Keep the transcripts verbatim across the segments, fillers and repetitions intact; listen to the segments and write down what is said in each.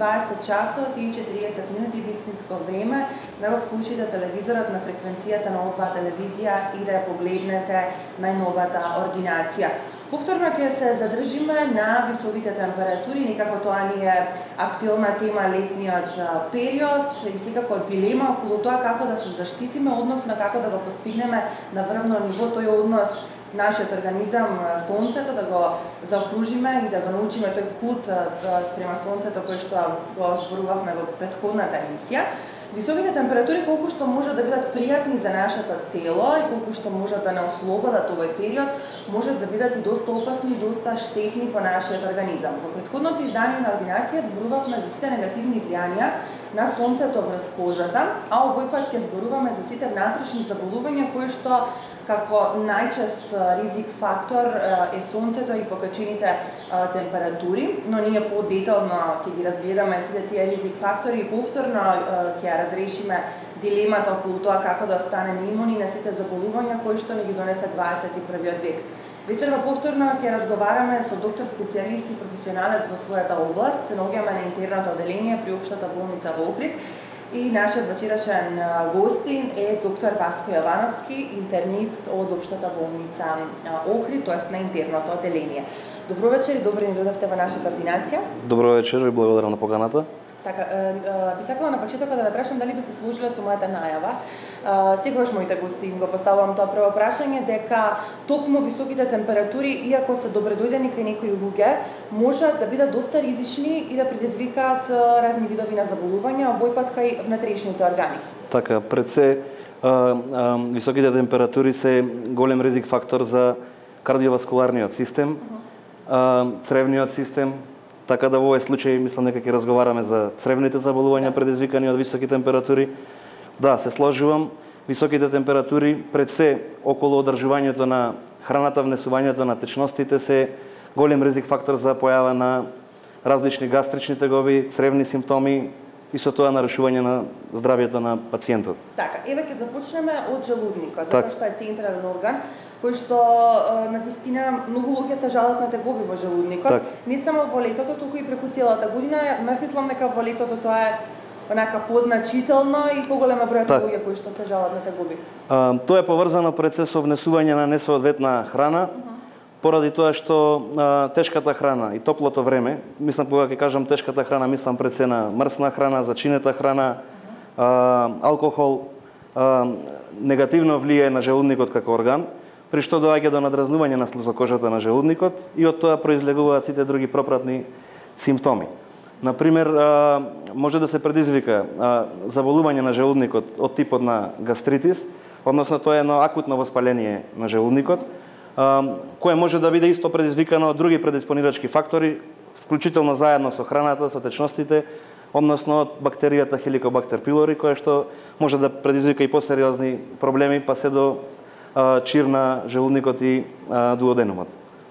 дваесет часот и четириесет минути вистинско време да го вклучите телевизорот на фреквенцијата на О два телевизија и да ја погледнете најновата ординација. Повторно ќе се задржиме на високите температури, некако тоа ни е актуелна тема летниот период и секако дилема околу тоа како да се заштитиме, односно како да го постигнеме на врвно ниво тој однос нашиот организам, сонцето, да го заокружиме и да го научиме тој култ спрема сонцето кој што го зборувавме во претходната емисија. Високите температури колку што можат да бидат пријатни за нашето тело и колку што можат да не ослободат овој период, можат да бидат и доста опасни, доста штетни по нашиот организам. Во претходното издание на ординација зборувавме за сите негативни влијанија на сонцето врз кожата, а овој пат ќе зборуваме за сите внатрешни заболувања кои што како најчест ризик фактор е сонцето и покачените температури, но ние подетално ќе ги разгледаме сите тие ризик фактори и повторно ќе ја разрешиме дилемата околу тоа како да останеме имуни на сите заболувања кои што ни ги донесе дваесет и првиот век. Вечерва повторно ќе разговараме со доктор специјалист и професионалец во својата област, се наоѓаме на интерното оделение при Општата болница во Охрид. И нашиот вечерашен гостин е доктор Васко Јовановски, интернист од Општата болница Охрид, тоест на интерното оделение. Добро вечер и добро ни дојдовте во нашата ординација. Добро вечер и благодарам на поканата. Така, би сакала на почетокот да ве прашам дали би се сложиле со мојата најава. Секогаш моите гости им го поставувам тоа прво прашање дека токму високите температури, иако се добредојдени кај некои луѓе, можат да бидат доста ризични и да предизвикаат разни видови на заболувања, овој пат кај внатрешните органи. Така, пред се а, а, високите температури се голем ризик фактор за кардиоваскуларниот систем, а, цревниот систем. Така да во овој случај мислам дека ќе разговараме за цревните заболувања предизвикани од високи температури. Да, се сложувам. Високите температури пред се околу одржувањето на храната, внесувањето на течностите се голем ризик фактор за појава на различни гастрични тегоби, цревни симптоми и со тоа нарушување на здравјето на пациентот. Така, еве ќе започнеме од желудникот, так. затоа што е централен орган кој што на вистина многу луѓе се жалат на тегоби во желудникот. Так. Не само во летото, туку и преку целата година. Јас мислам дека во летото тоа е онака позначително и поголема број так. луѓе кои што се жалат на тегоби. А, тоа е поврзано пред се со внесување на несоодветна храна, uh -huh. поради тоа што а, тешката храна и топлото време, мислам кога ќе кажам тешката храна, мислам пред се на мрсна храна, зачинета храна, uh -huh. а, алкохол, а, негативно влијае на желудникот како орган, при што доаѓа до надразнување на слузокожата на желудникот и од тоа произлегуваат сите други пропратни симптоми. Например, може да се предизвика заболување на желудникот од типот на гастритис, односно тоа е едно акутно воспаление на желудникот, кое може да биде исто предизвикано од други предиспонирачки фактори, вклучително заедно со храната, со течностите, односно од бактеријата Helicobacter pylori, која што може да предизвика и посериозни проблеми, па се до чир на желудникот и дуоденумот.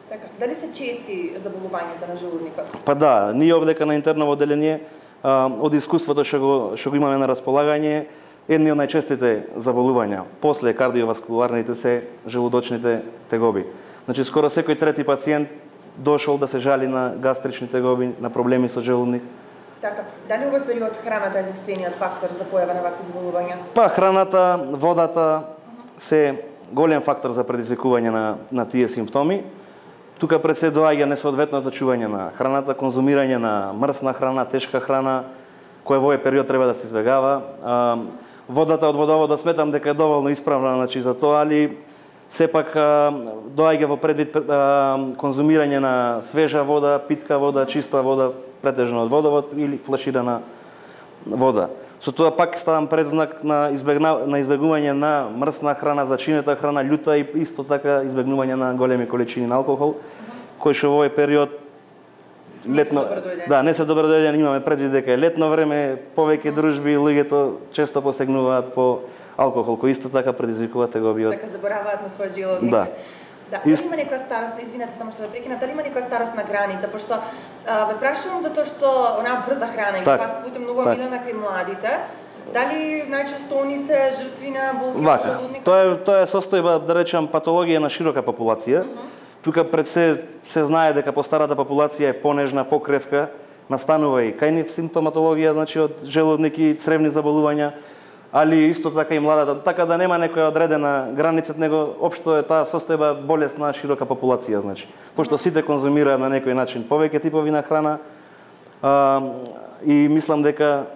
Така, дали се чести заболувањата на желудникот? Па да, ние овдека на интерно оделение од искуството што го што го имаме на располагање, едни од најчестите заболувања после кардиоваскуларните се желудочните тегоби. Значи скоро секој трети пациент дошол да се жали на гастрични тегоби, на проблеми со желудник. Така, дали овој период храната е единствениот фактор за појава на вакви заболувања? Па храната, водата се голем фактор за предизвикување на на тие симптоми. Тука пред се доаѓа несоодветното чување на храната, конзумирање на мрсна храна, тешка храна, која во овој период треба да се избегава. А, водата од водоводот сметам дека е доволно исправна, значи за тоа, али сепак а, доаѓа во предвид а, конзумирање на свежа вода, питка вода, чиста вода, претежно од водовод или флаширана вода. Со тоа пак ставам предзнак на избегна, на избегнување на мрсна храна, зачинета храна, љута и исто така избегнување на големи количини на алкохол, кој што во овој период летно, да, не се добродојдени, имаме предвид дека е летно време, повеќе дружби, луѓето често посегнуваат по алкохол, кој исто така предизвикува тегобиот. Така забораваат на својот желудник. Да. Да, дали има некоја старосна, извинете само што ве прекинав, дали има некоја старосна граница, пошто а, ве прашувам затоа што онаа брза храна и фастфуд е многу омилена кај младите. Дали најчесто они се жртви на болки на желудник? Тоа е тоа е состојба, да речам, патологија на широка популација. Uh -huh. Тука пред се се знае дека по старата популација е понежна, покревка, настанува и кај нив симптоматологија, значи од желудник и цревни заболувања, али исто така и младата, така да нема некоја одредена граница, него општо е таа состојба болест на широка популација, значи. Пошто сите конзумираат на некој начин повеќе типови на храна, а, и мислам дека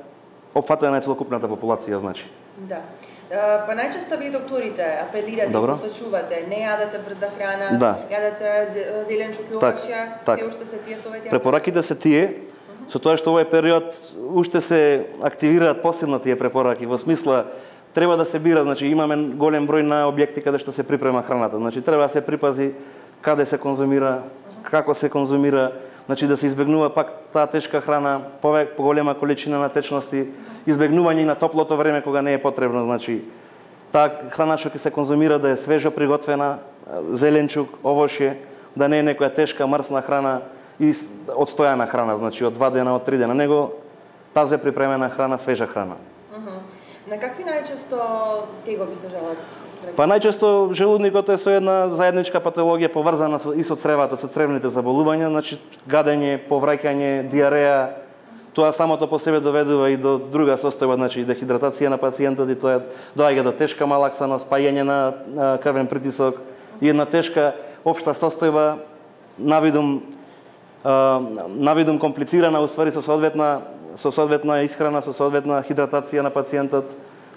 опфатена е целокупната популација, значи. Да. Па најчесто вие докторите апелирате, посочувате, не јадете брза храна, да. јадете зеленчук и овошја, так, се уште се тие совети. Препораките се тие, со тоа што овој период уште се активираат посебно тие препораки, во смисла треба да се бира, значи имаме голем број на објекти каде што се припрема храната, значи треба да се припази каде се конзумира, како се конзумира, значи да се избегнува пак таа тешка храна, повеќе поголема количина на течности, избегнување и на топлото време кога не е потребно, значи таа храна што ќе се конзумира да е свежо приготвена, зеленчук, овошје, да не е некоја тешка мрсна храна и одстојана храна, значи од два дена, од три дена, него тазе припремена храна, свежа храна. Uh -huh. На какви најчесто тегоби се жалат? Па најчесто желудникот е со една заедничка патологија поврзана со, и со цревата, со цревните заболувања, значи гадење, повраќање, диареја. Тоа самото по себе доведува и до друга состојба, значи дехидратација на пациентот, и тоа доаѓа до тешка малаксаност, паѓање на крвен притисок и една тешка општа состојба навидум навидум комплицирана, уствари со соодветна со соодветна исхрана, со соодветна хидратација на пациентот,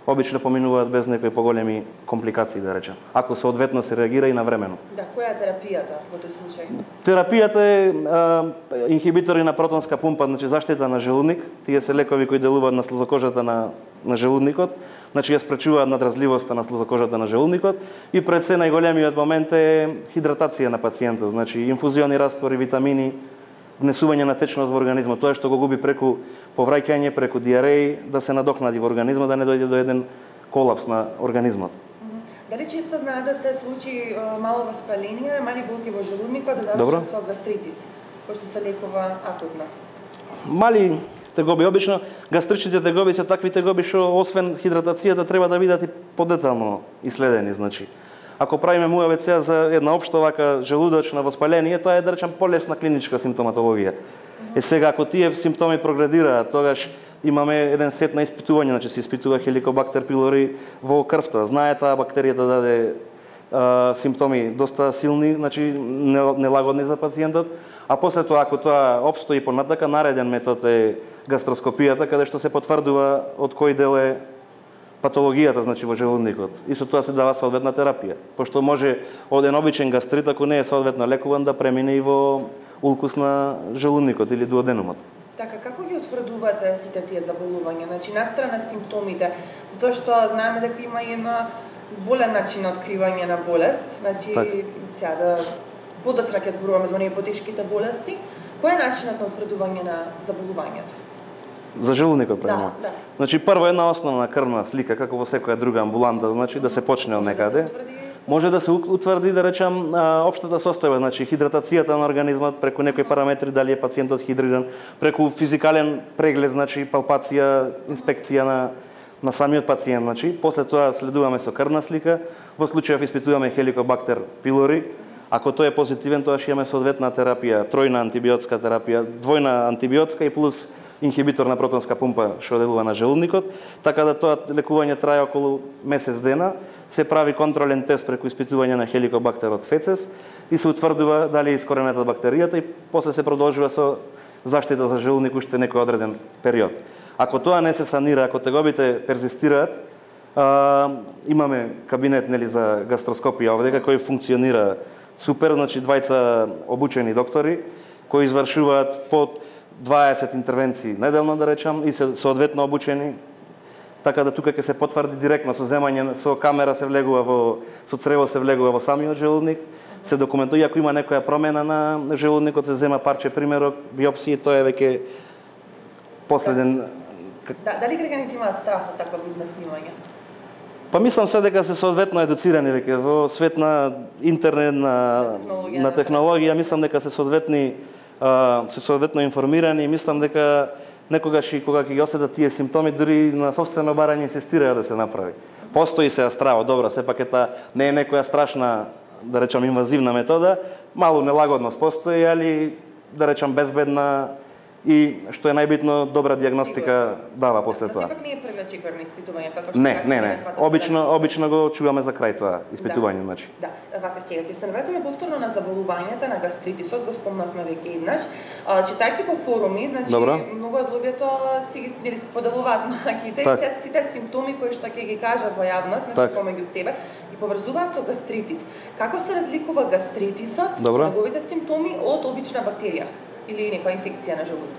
обично поминуваат без некои поголеми компликации, да речем, ако соодветно се реагира и навремено. Да, која е терапијата во тој случај? Терапијата е а, инхибитори на протонска пумпа, значи заштита на желудник. Тие се лекови кои делуваат на слезокожата на, на желудникот, значи ја спречуваат надразливоста на слезокожата на желудникот, и пред се најголемиот момент е хидратација на пациентот, значи инфузиони раствори, витамини, внесување на течност во организмот, тоа што го губи преку повраќање, преку диареи, да се надокнади во организмот, да не дојде до еден колапс на организмот. Дали често знае да се случи мало воспаление, мали болки во желудникот, да завршат со гастритис, кој што се лекува акутно? Мали тегоби, обично гастричните тегоби се такви тегоби што освен хидратацијата треба да бидат и подетално исследени, значи. Ако правиме му АВЦ за една општа вака желудочна воспаление, тоа е, да речем, полесна клиничка симптоматологија. Е сега, ако тие симптоми прогредираат, тогаш имаме еден сет на испитување, значи се испитува Helicobacter pylori во крвта. Знае таа бактерија да даде а, симптоми доста силни, значи нелагодни за пациентот, а после тоа, ако тоа опстои понатака, нареден метод е гастроскопијата, каде што се потврдува од кој дел е патологијата, значи во желудникот. И со тоа се дава соодветна терапија. Пошто може од еден обичен гастрит, ако не е соодветно лекуван, да премине и во улкус на желудникот или дуоденумот. Така, како ги утврдувате сите тие заболувања? Значи, настрана симптомите, затоа што знаеме дека има и една болен начин на откривање на болест, значи, так. Сега да подоцна ќе зборуваме за оние потешките болести, кој е начинот на утврдување на заболувањето? За желудникот правиме. Да, да. Значи прво една основна крвна слика, како во секоја друга амбуланта, значи да се почне од некаде. Може да се утврди, да речам, општата состојба, значи хидратацијата на организмот преку некои параметри, дали е пациентот хидриран, преку физикален преглед, значи палпација, инспекција на на самиот пациент, значи. После тоа следуваме со крвна слика, во случајов испитуваме Helicobacter pylori. Ако тој е позитивен, тоа ќе имаме соодветна терапија, тројна антибиотска терапија, двојна антибиотска и плюс инхибитор на протонска пумпа што делува на желудникот, така да тоа лекување трае околу месец дена, се прави контролен тест преку испитување на Helicobacter од фецес и се утврдува дали е искоренета бактеријата и после се продолжува со заштита за желудник уште некој одреден период. Ако тоа не се санира, ако тегобите перзистираат, а, имаме кабинет, нели, за гастроскопија овде кој функционира супер, значи двајца обучени доктори кои извршуваат под дваесет интервенции неделно, да речам, и се соодветно обучени. така да тука ќе се потврди директно со земање со камера се влегува во со црево се влегува во самиот желудник, се документува ако има некоја промена на желудникот, се зема парче примерок, биопсија, тоа е веќе последен. Да, дали граѓаните имаат страф од таква вид на снимање? Па мислам се дека се соодветно едуцирани веќе во свет на интернет, на технологија, на технологија, мислам дека се соодветни се соодветно информирани и мислам дека некогаш и кога ќе ги осетат тие симптоми, дури на собствено барање инсистираат да се направи. Постои се страво, добро, сепак ета не е некоја страшна, да речам, инвазивна метода, малу нелагодност постои, али да речам безбедна и што е најбитно добра дијагностика дава после тоа. Сепак не е предначекорно испитување како што Не, не, не. Обично обично го чуваме за крај тоа испитување, значи. Да, вака сега ќе се навратиме повторно на заболувањата на гастритисот, го спомнавме веќе еднаш. Читајќи по форуми, значи многу од луѓето си ги споделуваат маките и се сите симптоми кои што ќе ги кажат во јавност, значи помеѓу себе и поврзуваат со гастритис. Како се разликува гастритисот со неговите симптоми од обична бактерија или некоја инфекција на желудок?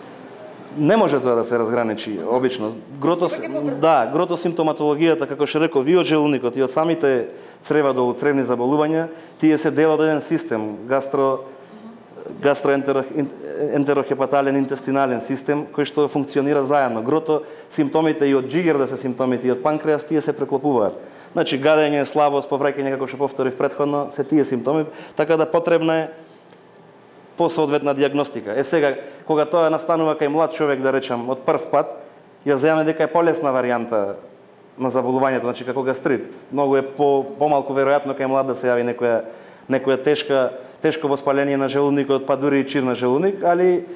Не може тоа да се разграничи обично. Грото да, грото симптоматологијата, како што реков, и од желудникот и од самите црева до цревни заболувања, тие се дел од еден систем, гастро гастроентерохепатален интестинален систем кој што функционира заедно. Грото симптомите и од джигер да се симптомите и од панкреас, тие се преклопуваат. Значи гадење, слабост, повраќање, како што повторив претходно, се тие симптоми, така да потребна е по соодветна дијагностика. Е сега, кога тоа настанува кај млад човек, да речам, од прв пат, ја земаме дека е полесна варијанта на заболувањето, значи како гастрит. Многу е по помалку веројатно кај млад да се јави некоја некоја тешка тешко воспаление на желудникот, па дури и чир на желудник, али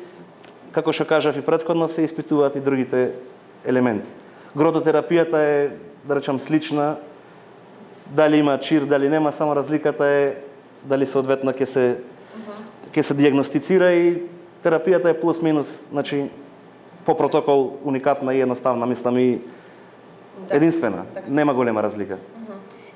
како што кажав и претходно, се испитуваат и другите елементи. Грототерапијата е, да речам, слична, дали има чир, дали нема, само разликата е дали соодветно ќе се ќе се дијагностицира и терапијата е плюс-минус, значи по протокол уникатна и едноставна, мислам и единствена. Нема голема разлика.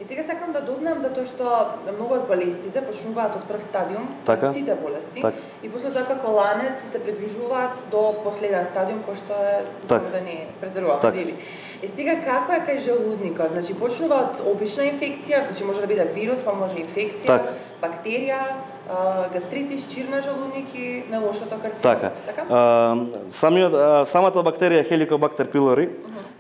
И сега сакам да дознам затоа што многу од болестите почнуваат од прв стадиум, сите болести, и после тоа како ланец се придвижуваат до последен стадиум кој што е да не претеруваме, дели. И сега како е кај желудникот? Значи почнува од обична инфекција, значи може да биде вирус, па може инфекција, бактерија, гастритис, чир на желудник и на лошото карцином. Така. Самиот самата бактерија Helicobacter pylori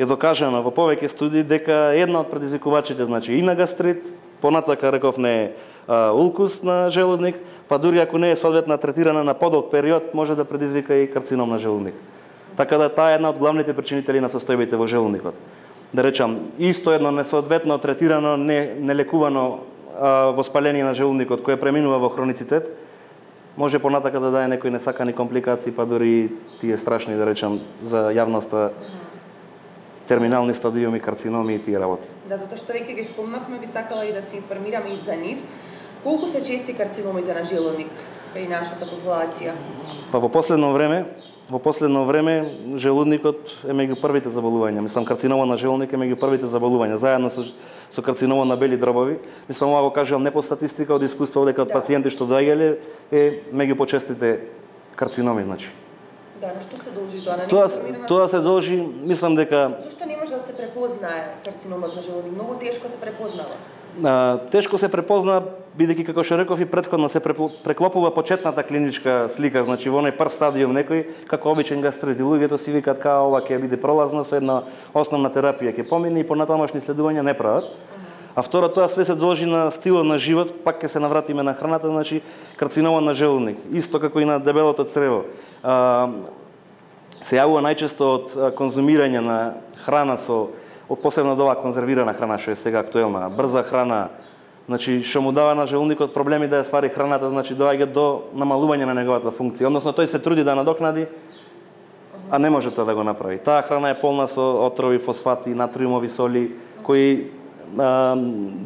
е докажано во повеќе студии дека една од предизвикувачите, значи и на гастрит, понатака реков не е улкус на желудник, па дури ако не е соодветно третирана на подолг период, може да предизвика и карцином на желудник. Така да таа е една од главните причинители на состојбите во желудникот. Да речам, исто едно несоодветно третирано, не нелекувано воспаление на желудникот кој преминува во хроницитет, може понатака да даде некои несакани компликации, па дури тие страшни, да речам, за јавноста терминални стадиуми, карциноми и тие работи. Да, затоа што веќе ги спомнавме, би сакала и да се информираме и за нив. Колку се чести карциномите на желудник кај нашата популација? Па во последно време, во последно време желудникот е меѓу првите заболувања. Мислам, карцинома на желудник е меѓу првите заболувања, заедно со со карцинома на бели дробови. Мислам, ова го кажувам не по статистика, од искуство, дека од пациенти што доаѓале е меѓу почестите карциноми, значи. Да, на што се должи тоа? Тоа, тоа се должи, мислам дека... Зошто не може да се препознае карциномот на желудник? Многу тешко се препознава. А, тешко се препозна, бидејќи како што реков и претходно се преклопува почетната клиничка слика, значи во оној прв стадиум некој како обичен гастрит и луѓето си викаат као ова ќе биде пролазно со една основна терапија ќе помине и понатамошни следувања не прават. А второ, тоа све се должи на стилот на живот, пак ќе се навратиме на храната, значи карцинома на желудник, исто како и на дебелото црево. А, се јавува најчесто од конзумирање на храна со од посебно од оваа конзервирана храна што е сега актуелна, брза храна, значи што му дава на желудникот проблеми да ја свари храната, значи доаѓа до намалување на неговата функција. Односно тој се труди да надокнади, а не може тоа да го направи. Таа храна е полна со отрови, фосфати, натриумови соли кои а,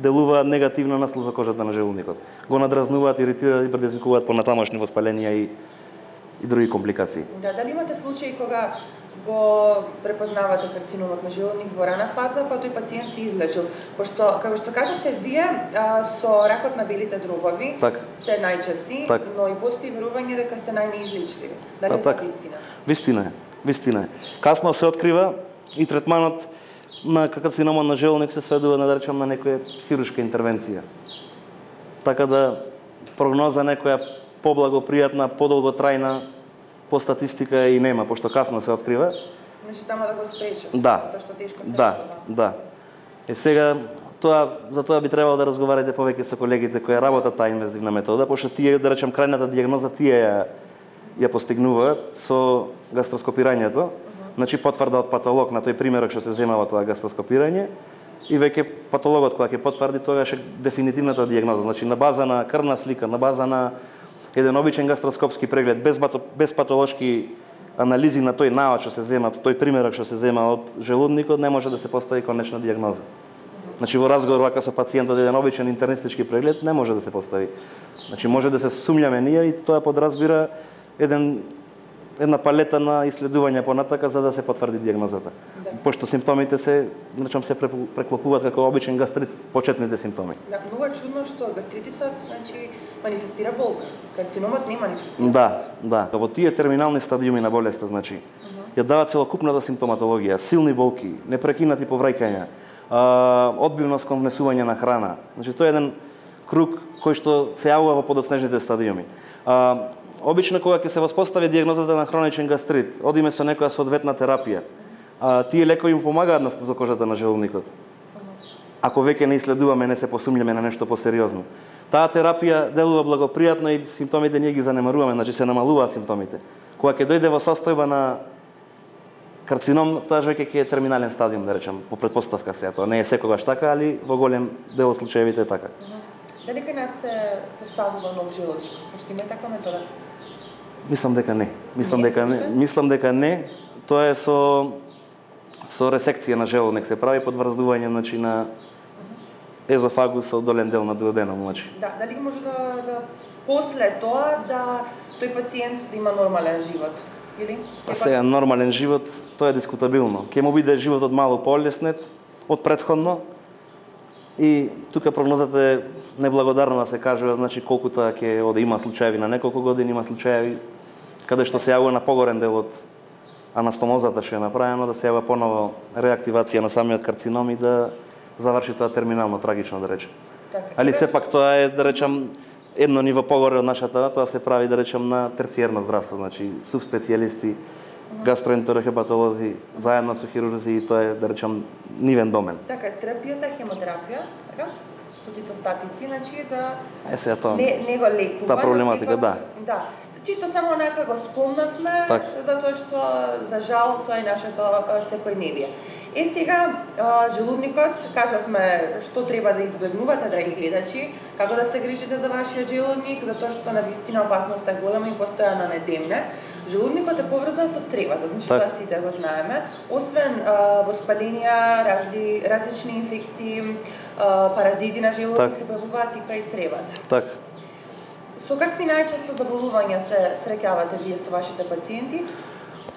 делуваат негативно на слузокожата на желудникот. Го надразнуваат, иритираат и предизвикуваат понатамошни воспаленија и и други компликации. Да, дали имате случаи кога го препознавате карциномот на желудник во рана фаза, па тој пациент се излечил? Пошто, како што кажавте вие, а, со ракот на белите дробови так. се најчести, так. но и постои верување дека се најнеизлечливи. Дали е тоа вистина? Вистина е, вистина е. Касно се открива и третманот на карцинома на желудник се сведува на да речам на некоја хируршка интервенција. Така да прогноза некоја поблагопријатна, подолготрајна по статистика и нема, пошто касно се открива. Значи само да го спречат, да, тоа што тешко се да, открива. да. Е сега тоа за тоа би требало да разговарате повеќе со колегите кои работат таа инвазивна метода, пошто тие да речем крајната дијагноза тие ја ја постигнуваат со гастроскопирањето. Значи потврда од патолог на тој примерок што се земава тоа гастроскопирање и веќе патологот кога ќе потврди тогаш е дефинитивната дијагноза. Значи на база на крвна слика, на база на еден обичен гастроскопски преглед без бато, без патолошки анализи на тој наод што се зема, тој примерок што се зема од желудникот, не може да се постави конечна дијагноза. Значи во разговор вака со пациентот еден обичен интернистички преглед не може да се постави. Значи може да се сумњаме ние и тоа подразбира еден една палета на исследувања понатака за да се потврди дијагнозата. Да. Пошто симптомите се, значам се преклопуваат како обичен гастрит, почетните симптоми. Да, многу е чудно што гастритисот значи манифестира болка. Карциномот не манифестира. Да, да. Во тие терминални стадиуми на болеста, значи, uh-huh. ја дава целокупната симптоматологија, силни болки, непрекинати повраќања, одбивност кон внесување на храна. Значи тоа е еден круг кој што се јавува во подоцнежните стадиуми. А, Обично кога ќе се воспостави дијагнозата на хроничен гастрит, одиме со некоја соодветна терапија. А, тие лекови им помагаат на стазокожата на желудникот. Ако веќе не исследуваме, не се посумњаме на нешто посериозно. Таа терапија делува благопријатно и симптомите ние ги занемаруваме, значи се намалуваат симптомите. Кога ќе дојде во состојба на карцином, тоа веќе ќе е терминален стадиум, да речам, по претпоставка сега. Тоа не е секогаш така, али во голем дел од случаевите е така. Дали кај нас се се всадува нов желудник? Пошто има таква метода? Мислам дека не. Мислам не, дека не. Мислам дека не. Тоа е со со ресекција на желудник се прави подврздување значи на езофагус со долен дел на дуоденум, значи. Да, дали може да да после тоа да тој пациент да има нормален живот? Или А сега нормален живот, тоа е дискутабилно. Ќе му биде животот малку полеснет од претходно и тука прогнозата е неблагодарно да се кажува, значи колкута ќе оде има случаеви на неколку години, има случаеви каде што се јавува на погорен дел од анастомозата што е направено, да се јава поново реактивација на самиот карцином и да заврши тоа терминално трагично, да речем. Така. Али сепак тоа е, да речем, едно ниво погоре од нашата, тоа се прави, да речем, на терциерно здравство, значи субспецијалисти, гастроентерохепатолози, заедно со хирурзи, и тоа е, да речем, нивен домен. Така, терапијата е хемотерапија, така? Со цитостатици, значи за Е сега тоа. Не, не го лекува. Таа проблематика, да. Да. Чисто само онака го спомнавме, так. затоа што за жал тоа е нашето секојдневие. Е сега желудникот, кажавме што треба да избегнувате, драги гледачи, како да се грижите за вашиот желудник, затоа што навистина опасноста е голема и постојано не демне. Желудникот е поврзан со цревата, значи так. тоа сите го знаеме. Освен а, воспаленија, разли, различни инфекции, а, паразити на желудник так. се појавуваат и кај цревата. Так. Со какви најчесто заболувања се среќавате вие со вашите пациенти?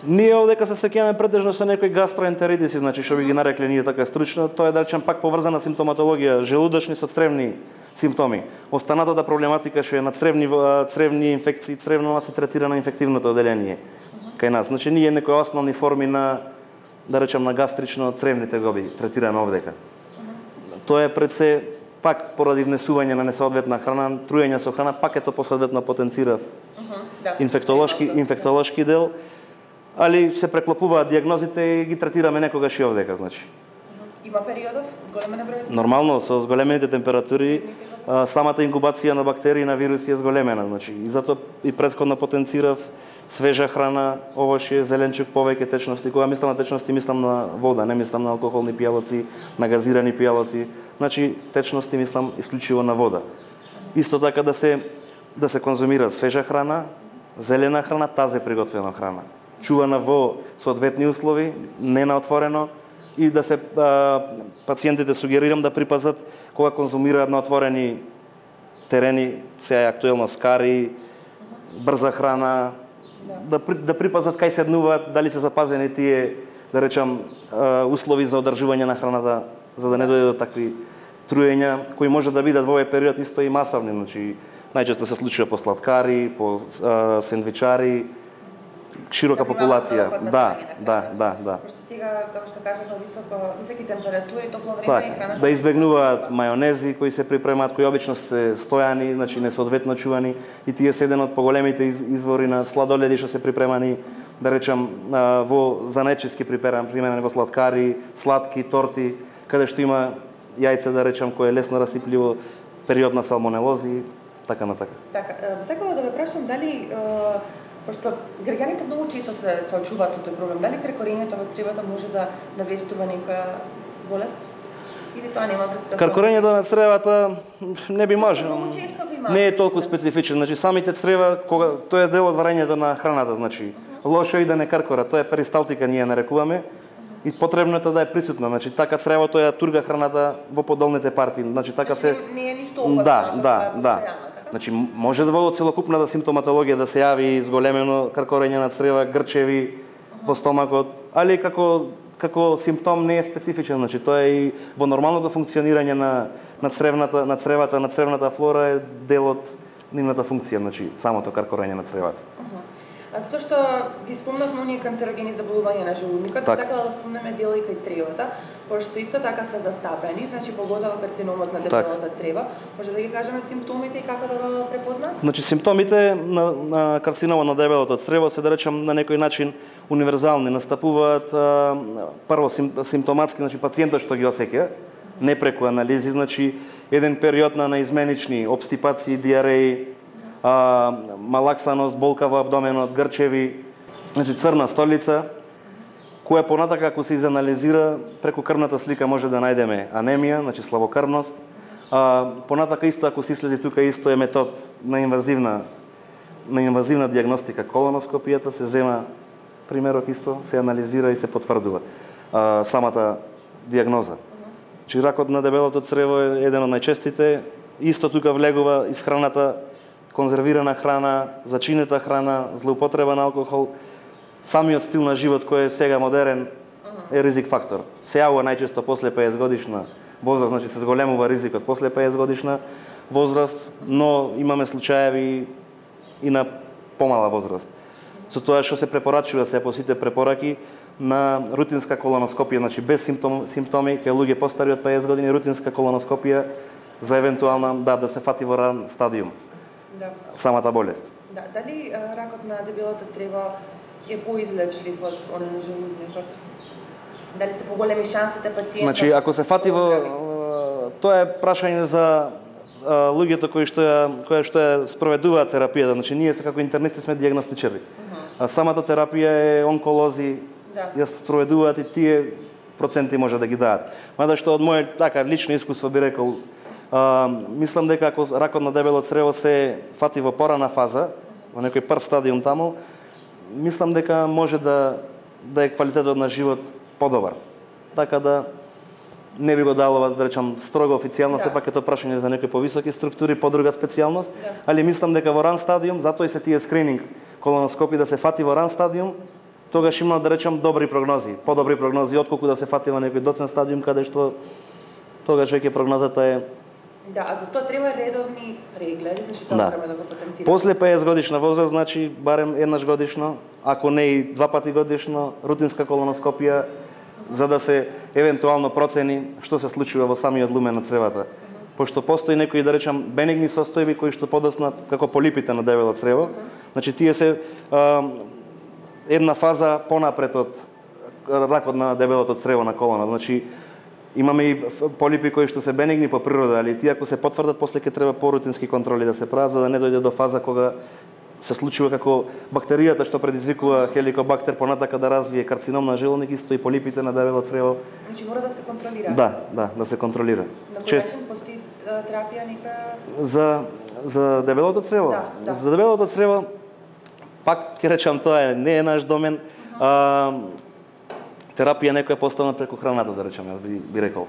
Ние овдека се среќаваме претежно со некои гастроентеритиси, значи што би ги нарекле ние така стручно, тоа е да речем пак поврзана симптоматологија, желудочни со цревни симптоми. Останатата проблематика што е на цревни цревни инфекции, цревно се третира на инфективното оделение. Uh-huh. Кај нас, значи ние некои основни форми на да речем на гастрично цревни тегоби третираме овдека. Uh-huh. Тоа е пред се пак поради внесување на несоодветна храна, труење со храна, пак ето посоодветно потенцира uh-huh. да. инфектолошки инфектолошки дел. Али се преклопуваат дијагнозите и ги третираме некогаш и овдека, значи. Има периодов зголемена број? Нормално, со зголемените температури, самата инкубација на бактерии на вируси е зголемена, значи. И затоа и претходно потенцирав свежа храна, овошје, зеленчук, повеќе течности. Кога мислам на течности, мислам на вода, не мислам на алкохолни пијалоци, на газирани пијалоци. Значи, течности мислам исклучиво на вода. Исто така да се да се конзумира свежа храна, зелена храна, тазе приготвена храна. Чувана во соодветни услови, не на отворено, и да се а, пациентите сугерирам да припазат кога конзумираат на отворени терени, сега е актуелно скари, брза храна, да, да, да припазат кај седнуваат, дали се запазени тие, да речам, а, услови за одржување на храната, за да не дојде до такви труења, кои може да бидат во овој период исто и масовни, значи најчесто се случува по сладкари, по а, сендвичари, широка популација. Да, да, да, да. Пошто сега, како што кажав, високо високи температури, топло време Так, и храната да избегнуваат мајонези кои се припремаат, кои обично се стојани, значи несоодветно чувани, и тие се еден од поголемите извори на сладоледи што се припремани, да речам, во занечиски припремани во сладкари, сладки, торти, каде што има јајце, да речам, кое е лесно расипливо, период на салмонелози, така на така. Така, сакала да ве прашам дали пошто граѓаните многу често се соочуваат со тој проблем, дали крекорењето во цревата може да навестува некоја болест? Или тоа нема врска? Крекорењето на цревата не би може. Многу често го има. Не е толку специфичен, значи самите црева, кога тоа е дел од варењето на храната, значи лошо е и да не каркора, тоа е перисталтика ние нарекуваме. И потребно е тоа да е присутна, значи така цревото ја турга храната во подолните партии, значи така се не е ништо опасно. Да, да, да. Значи може да во целокупната симптоматологија да се јави зголемено каркорење на црева, грчеви во стомакот, али како како симптом не е специфичен, значи тоа е и во нормалното функционирање на на цревната на цревата, на цревната флора е дел од нивната функција, значи самото каркорење на цревата. А затоа што ги спомнавме оние канцерогени заболувања на желудникот, так. Сакала да спомнеме дел и кај цревата, пошто исто така се застапени, значи поготово карциномот на дебелото црево. Може да ги кажеме симптомите и како да го препознаат? Значи симптомите на, на карциномот на дебелото црево се, да речем, на некој начин универзални, настапуваат а, прво сим, симптоматски, значи пациентот што ги осеќа, не преку анализи, значи еден период на наизменични обстипации, диареи, а, малаксаност, болка во абдоменот, грчеви, значи црна столица, која понатака ако се изанализира преку крвната слика може да најдеме анемија, значи слабокрвност. А, понатака исто ако се следи тука исто е метод на инвазивна на инвазивна диагностика, колоноскопијата, се зема примерок исто, се анализира и се потврдува а, самата диагноза. Чи ракот на дебелото црево е еден од најчестите, исто тука влегува исхраната, конзервирана храна, зачинета храна, злоупотреба на алкохол, самиот стил на живот кој е сега модерен е ризик фактор. Се јавува најчесто после петдесет годишна возраст, значи се зголемува ризикот после петдесет годишна возраст, но имаме случаеви и на помала возраст. Со тоа што се препорачува се по сите препораки на рутинска колоноскопија, значи без симптом, симптоми кај луѓе постари од петдесет години, рутинска колоноскопија за евентуална да да се фати во ран стадиум. Да. Самата болест. Да, дали ракот на дебелото црево е поизлечлив од оној на желудникот? Дали се поголеми шансите пациентот? Значи, ако се фати во тоа е прашање за луѓето кои што ја кои што ја спроведуваат терапијата, значи ние како интернисти сме дијагностичари. Uh-huh. А самата терапија е онколози, да. Ја спроведуваат и тие проценти може да ги дадат. Мада што од моје така лично искуство би рекол, а, мислам дека ако ракот на дебело црево се фати во порана фаза, во некој прв стадиум таму, мислам дека може да да е квалитетот на живот подобар. Така да не би го дало, да речам, строго официјално, да. Сепак е тоа прашање за некои повисоки структури, подруга специјалност, да. Али мислам дека во ран стадиум, затоа и се тие скрининг колоноскопи да се фати во ран стадиум, тогаш има, да речам, добри прогнози, подобри прогнози отколку да се фати во некој доцен стадиум каде што тогаш веќе прогнозата е. Да, а за тоа треба редовни прегледи, значи тоа да. треба да го потенцираме. После петдесет годишна возраст, значи барем еднаш годишно, ако не и два пати годишно, рутинска колоноскопија, за да се евентуално процени што се случува во самиот лумен на цревата. Uh-huh. Пошто постои некои, да речам, бенигни состојби кои што подоцна како полипите на дебело црево. Uh-huh. Значи тие се а, една фаза понапред од ракот на дебелото црево на колона. Значи имаме и полипи кои што се бенигни по природа, али тие ако се потврдат после ќе треба порутински контроли да се прават за да не дојде до фаза кога се случува како бактеријата што предизвикува хеликобактер понатака да развие карцином на желудник, исто и полипите на дебело црево. Значи мора да се контролира. Да, да, да се контролира. На кој начин постои терапија нека за за дебелото црево? Да, да. За дебелото црево пак ќе речам тоа е не е наш домен. Uh-huh. А, терапија некоја поставена преку храната, да речам, јас би, би рекол.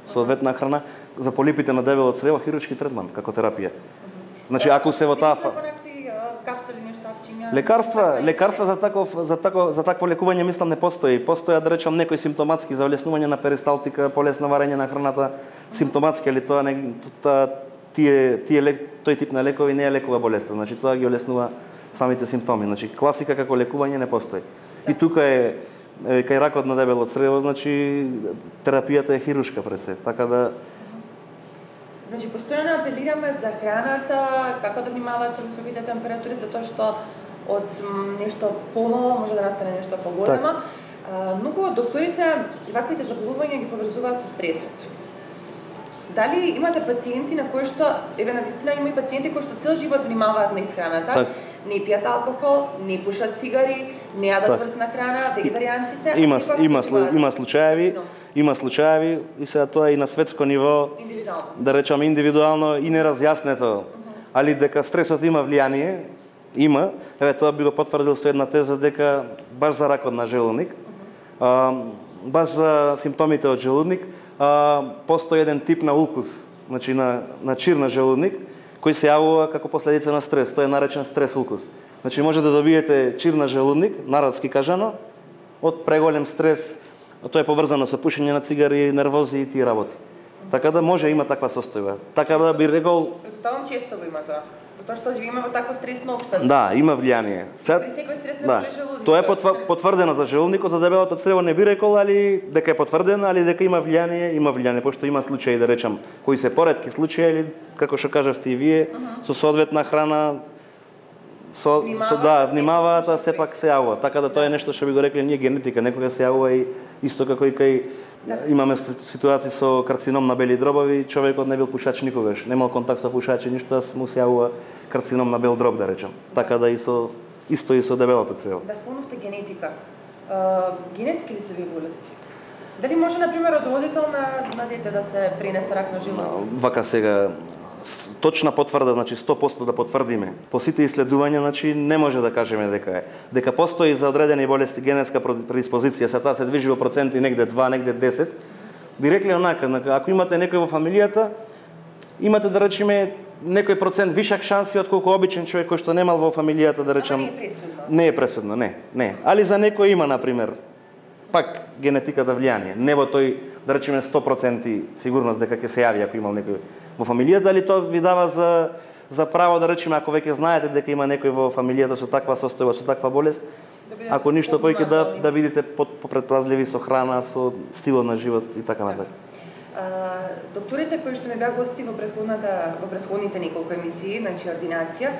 Соодветна храна за полипите на дебело црево, хируршки третман како терапија. Uh-huh. Значи ако се во таа капсули, нешто, апчиња. Лекарства, лекарства за таков за тако за такво лекување мислам не постои. Постојат, да речам, некои симптоматски за влеснување на перисталтика, полесно варење на храната, симптоматски, али тоа не тие тие лек, тој тип на лекови не е лекува болеста. Значи тоа ги олеснува самите симптоми. Значи класика како лекување не постои. Да. И тука е, е кај ракот на дебело црево, значи терапијата е хируршка пред се, така да. Значи постојано апелираме за храната, како да внимаваат со високите температури, затоа што од нешто помало може да настане нешто поголемо. Так. Многу од докторите ваквите заболувања ги поврзуваат со стресот. Дали имате пациенти на кои што, еве навистина има и пациенти кои што цел живот внимаваат на исхраната, так. Не пијат алкохол, не пушат цигари, не јадат врсна храна, вегетаријанци се. Има има има случаеви, има случаеви и сега тоа и на светско ниво, да речеме индивидуално и неразјаснето, uh -huh. али дека стресот има влијание, има. Еве тоа би го потврдил со една теза дека баш за ракот на желудник, uh -huh. а, баш за симптомите од желудник, а, постои еден тип на улкус, значи на на чир на желудник, кој се јавува како последица на стрес. Тоа е наречен стрес улкус. Значи може да добиете чир на желудник, народски кажано, од преголем стрес, тоа е поврзано со пушење на цигари, нервози и тие работи. Така да може има таква состојба. Така да би рекол, предпоставам често има тоа. Затоа што живееме во такво стресно општество. Да, има влијание. Сега при секој стрес на да. Желудник. Тоа е потврдено за желудникот, за дебелото црево не би рекол, али дека е потврдено, али дека има влијание, има влијание, пошто има случаи, да речам, кои се поретки случаи, или како што кажавте и вие, uh -huh. со соодветна храна, со, со да, внимаваат, а сепак се јавува. Така да тоа е нешто што би го рекле ние генетика, некога се јавува и исто како и кај да. Имаме ситуации со карцином на бели дробови, човекот не бил пушач никогаш, немал контакт со пушачи, ништо, му се јавува карцином на бел дроб, да речем. Така да и со исто и со дебелото црево. Да спомнавте генетика. Uh, генетски ли се овие болести? Дали може на пример од родител на, на дете да се пренесе рак на желудок? Вака сега точна потврда, значи сто проценти да потврдиме. По сите исследувања, значи не може да кажеме дека е. Дека постои за одредени болести генетска предиспозиција, се таа се движи во проценти негде два, негде десет. Би рекле онака, ако имате некој во фамилијата, имате да речеме некој процент вишак шанси од колку обичен човек кој што немал во фамилијата, да речем. Не е пресудно. Не е пресудно, не, не. Али за некој има, на пример, пак генетиката влијание. Не во тој, да речеме сто проценти сигурност дека ќе се јави ако имал некој во фамилијата, дали тоа ви дава за за право, да речеме, ако веќе знаете дека има некој во фамилијата со таква состојба, со таква болест, да ако ништо поиќе да да бидете попредпазливи со храна, со стилот на живот и така натаму. Докторите кои што ме беа гости во претходната во претходните неколку емисии, значи ординација,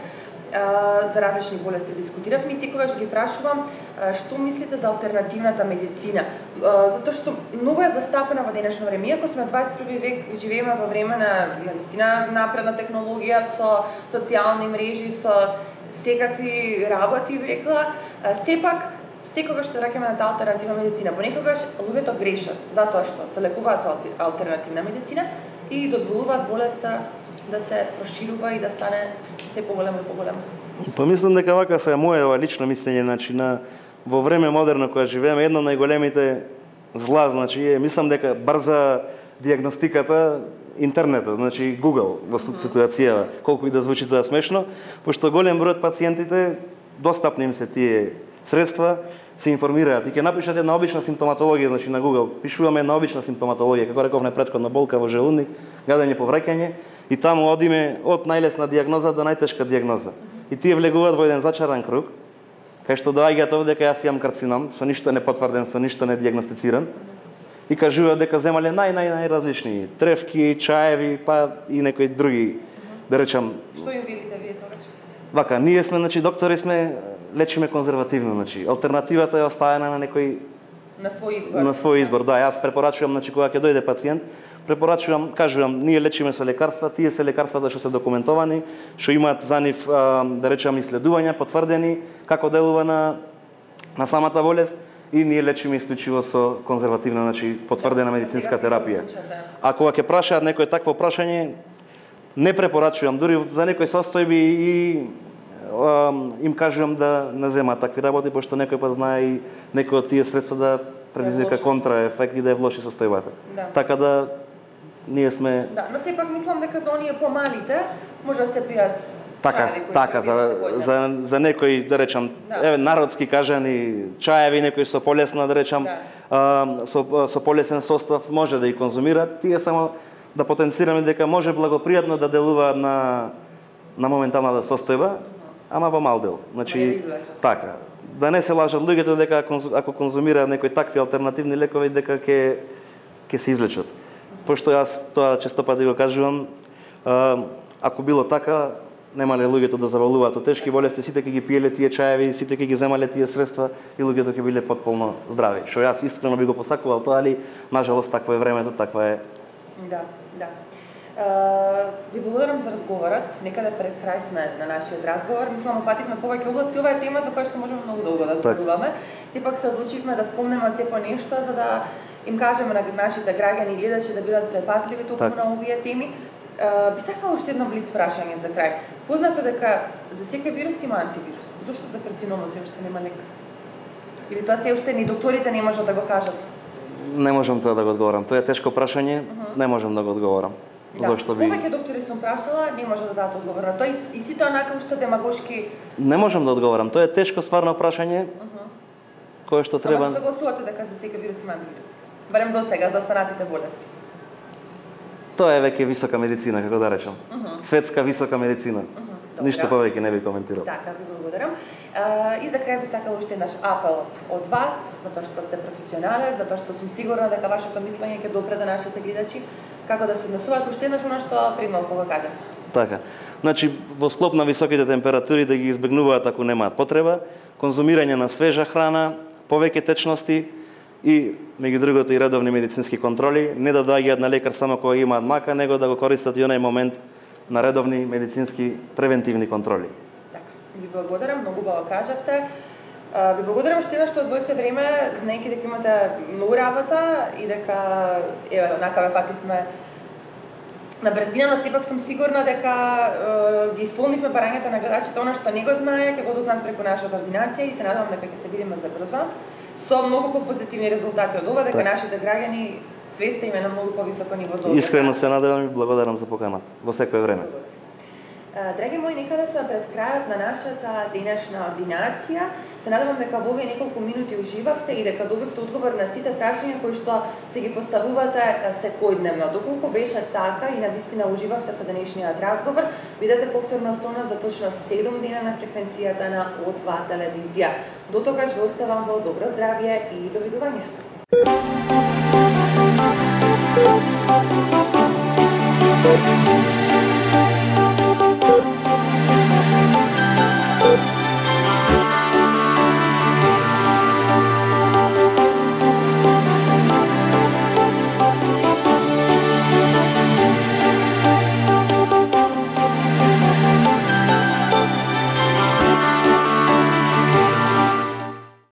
за различни болести дискутиравме и секогаш ги прашувам што мислите за алтернативната медицина, затоа што многу е застапена во денешно време. Иако сме дваесет и први век, живееме во време на навистина напредна технологија со социјални мрежи, со секакви работи, би рекла, сепак секогаш се враќаме на таа алтернативна медицина. Понекогаш луѓето грешат затоа што се лекуваат со алтернативна медицина и дозволуваат болеста да се проширува и да стане се поголемо и поголемо. Па мислам дека вака се моје лично мислење, значи на во време модерно кога живееме, едно од најголемите зла, значи е, мислам дека брза диагностиката интернетот, значи Google во ситуација, колку и да звучи тоа смешно, пошто голем број од пациентите достапни им се тие средства, се информираат и ќе напишат една обична симптоматологија, значи на Google, пишуваме една обична симптоматологија, како рековме претходно, болка во желудник, гадење, повраќање, и таму одиме од најлесна диагноза до најтешка диагноза. И тие влегуваат во еден зачаран круг, кај што доаѓаат овде дека јас имам карцином, со ништо не потврден, со ништо не диагностициран, и кажуваат дека земале нај нај најразлични тревки, чаеви, па и некои други, да речам. Што им велите вие тогаш? Вака, ние сме, значи доктори сме, лечиме конзервативно, значи алтернативата е оставена на некој на свој избор. На свој избор, да, јас препорачувам, значи кога ќе дојде пациент, препорачувам, кажувам, ние лечиме со лекарства, тие се лекарствата што се документовани, што имаат за нив, да речам, исследувања потврдени како делува на на самата болест, и ние лечиме исклучиво со конзервативна, значи потврдена медицинска терапија. А кога ќе прашаат некој такво прашање, не препорачувам, дури за некои состојби и им кажувам да не земаат такви работи, пошто некој пат знае и некој од тие средства да предизвика контраефект и да е влоши состојбата. Да. Така да ние сме. Да, но сепак мислам дека за оние помалите може да се пијат. Така, така за за за некои, да речам, да. Еве народски кажани чаеви, некои со полесна, да речам, да. а, со со полесен состав може да и конзумираат. Тие само да потенцираме дека може благопријатно да делуваат на на моменталната состојба, ама во мал дел. Значи, да така, да не се лажат луѓето дека ако конзумираат некои такви алтернативни лекови дека ќе ќе се излечат. Пошто јас тоа често пати го кажувам, ако било така, немале луѓето да заболуваат од тешки болести, сите ќе ги пиеле тие чаеви, сите ќе ги земале тие средства и луѓето ќе биле потполно здрави. Што јас искрено би го посакувал тоа, али нажалост такво е времето, таква е. Да, да. Uh, ви благодарам за разговорот. Некаде пред крај сме на нашиот разговор. Мислам, опфативме повеќе области. Ова е тема за која што можеме многу долго да зборуваме. Сепак се одлучивме да спомнеме од сепо нешто за да им кажеме на нашите граѓани и гледачи да бидат предпазливи токму на овие теми. Uh, би сакала уште едно блиц прашање за крај. Познато дека за секој вирус има антивирус. Зошто за карциномот се уште нема лек? Или тоа се уште ни докторите не можат да го кажат? Не можам тоа да го одговорам. Тоа е тешко прашање, uh -huh. не можам да го одговорам. Да. Зошто би... Повеќе доктори сум прашала, не може да дадат одговор на тоа и, и сите онака уште демагошки. Не можам да одговорам. Тоа е тешко стварно прашање. Uh -huh. Кое што треба. Ама согласувате дека за секој вирус има антивирус? Барем до сега за останатите болести. Тоа е веќе висока медицина, како да речам. Uh -huh. Светска висока медицина. Uh -huh. Ништо повеќе не би коментирал. Така, ви благодарам. Uh, и за крај би сакала уште еднаш апелот од вас, затоа што сте професионалец, затоа што сум сигурна дека вашето мислење ќе допре до нашите гледачи, како да се однесуваат уште еднаш она што прималку го кажав. Така. Значи, во склоп на високите температури да ги избегнуваат ако немаат потреба, конзумирање на свежа храна, повеќе течности и меѓу другото и редовни медицински контроли, не да доаѓаат на лекар само кога имаат мака, него да го користат и онај момент на редовни медицински превентивни контроли. Така. Ви благодарам, многу убаво кажавте. Ви благодарам што еднаш што одвоивте време, знаејќи дека имате многу работа и дека еве онака ве фативме на брзина, но сепак сум сигурна дека е, ги исполнивме барањата на гледачите, она што не го знае, ќе го дознаат преку нашата ординација и се надевам дека ќе се видиме за брзо со многу попозитивни резултати од ова, дека так. Нашите граѓани свеста им е на многу повисоко ниво за ова. Искрено се надевам и благодарам за поканата во секое време. Драги мои, некаде сме пред крајот на нашата денешна ординација. Се надевам дека во овие неколку минути уживавте и дека добивте одговор на сите прашања кои што се ги поставувате секојдневно. Доколку беше така и навистина уживавте со денешниот разговор, бидете повторно со нас за точно седум дена на фреквенцијата на О два телевизија. До тогаш ве оставам во добро здравје и довидување. Thank you.